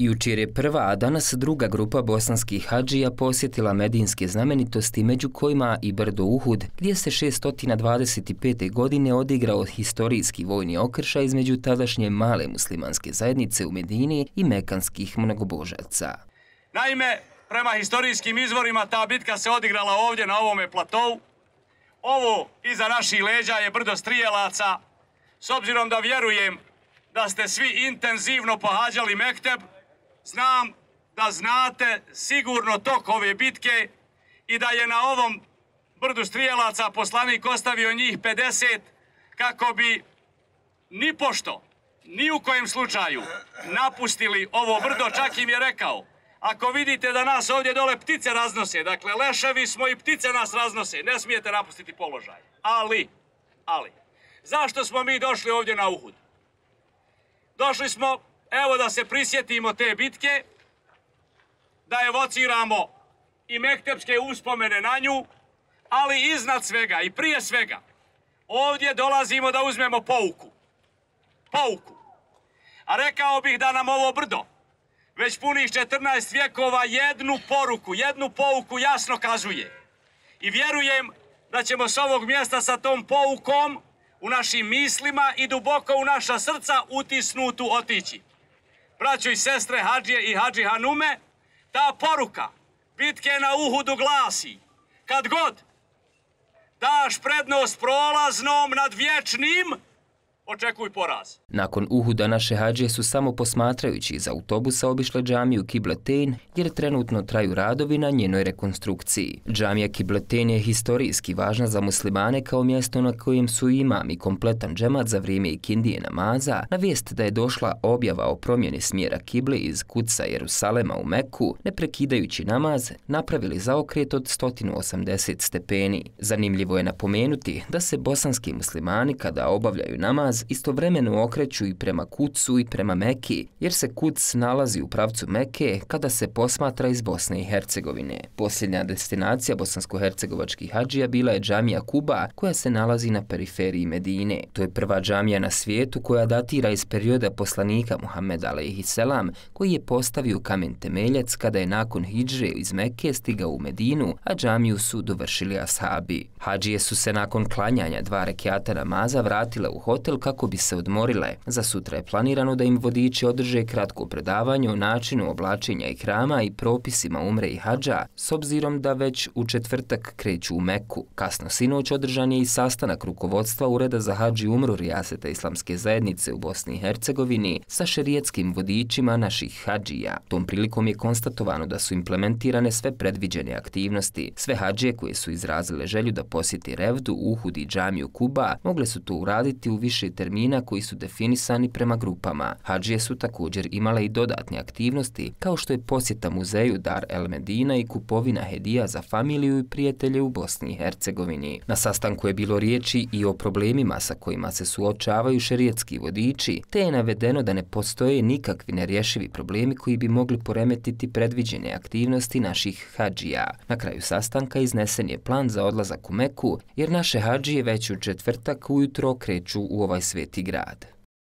Jučer je prva, a danas druga grupa bosanskih hadžija posjetila medinske znamenitosti, među kojima i brdo Uhud, gdje se 625. godine odigrao historijski vojni okršaj između tadašnje male muslimanske zajednice u Medini i mekanskih mnogobožaca. Naime, prema historijskim izvorima ta bitka se odigrala ovdje na ovome platovu. Ovo iza naših leđa je brdo Strijelaca. S obzirom da vjerujem da ste svi intenzivno pohađali mekteb, znam da znate sigurno tok ove bitke i da je na ovom brdu Strijelaca poslanik ostavio njih 50 kako bi nipošto, ni u kojem slučaju napustili ovo brdo. Čak im je rekao, ako vidite da nas ovdje dole ptice raznose, dakle leševi smo i ptice nas raznose, ne smijete napustiti položaj. Ali, zašto smo mi došli ovdje na Uhud? Došli smo, evo, da se prisjetimo te bitke, da evociramo i mektepske uspomene na nju, ali iznad svega i prije svega ovdje dolazimo da uzmemo pouku. A rekao bih da nam ovo brdo već punih 14 vjekova jednu pouku jasno kazuje. I vjerujem da ćemo s ovog mjesta sa tom poukom u našim mislima i duboko u naša srca utisnutu otići. Braćo i sestre, hadžije i hadži hanume, ta poruka bitke na Uhudu glasi: kad god daš prednost prolaznom nad vječnim, očekuj poraz. Nakon Uhuda naše hadžije su samo posmatrajući iz autobusa obišle džamiju Kibletein, jer trenutno traju radovi na njenoj rekonstrukciji. Džamija Kibletein je historijski važna za muslimane kao mjesto na kojem su imam i kompletan džemat za vrijeme ikindije namaza na vijest da je došla objava o promjeni smjera kible iz Kudsa Jerusalema u Meku, ne prekidajući namaz, napravili zaokret od 180 stepeni. Zanimljivo je napomenuti da se bosanski muslimani kada obavljaju namaz istovremeno okreću i prema Kudsu i prema Meki, jer se Kuds nalazi u pravcu Meke kada se posmatra iz Bosne i Hercegovine. Posljednja destinacija bosansko-hercegovačkih hadžija bila je džamija Kuba, koja se nalazi na periferiji Medine. To je prva džamija na svijetu koja datira iz perioda poslanika Muhammeda alejhiselam, koji je postavio kamen temeljac kada je nakon hidžre iz Meke stigao u Medinu, a džamiju su dovršili ashabi. Hadžije su se nakon klanjanja 2 rekjata namaza vratile u hotel kako bi se odmorile. Za sutra je planirano da im vodiči održe kratko predavanje o načinu oblačenja ihrama i propisima umre i hadža, s obzirom da već u četvrtak kreću u Meku. Kasno sinoć održan je i sastanak rukovodstva Ureda za hadž i umru Rijaseta Islamske zajednice u Bosni i Hercegovini sa šerijetskim vodičima naših hadžija. Tom prilikom je konstatovano da su implementirane sve predviđene aktivnosti. Sve hadžije koje su izrazile želju da posjeti Revdu, Uhud i džamiju Kuba mogle su to uraditi u više termina koji su definisani prema grupama. Hadžije su također imale i dodatne aktivnosti, kao što je posjeta muzeju Dar el Medina i kupovina hedija za familiju i prijatelje u Bosni i Hercegovini. Na sastanku je bilo riječi i o problemima sa kojima se suočavaju šerijetski vodiči, te je navedeno da ne postoje nikakvi nerješivi problemi koji bi mogli poremetiti predviđene aktivnosti naših hadžija. Na kraju sastanka iznesen je plan za odlazak u Meku, jer naše hadžije već u četvrtak ujutro kreću u ovaj sveti grad.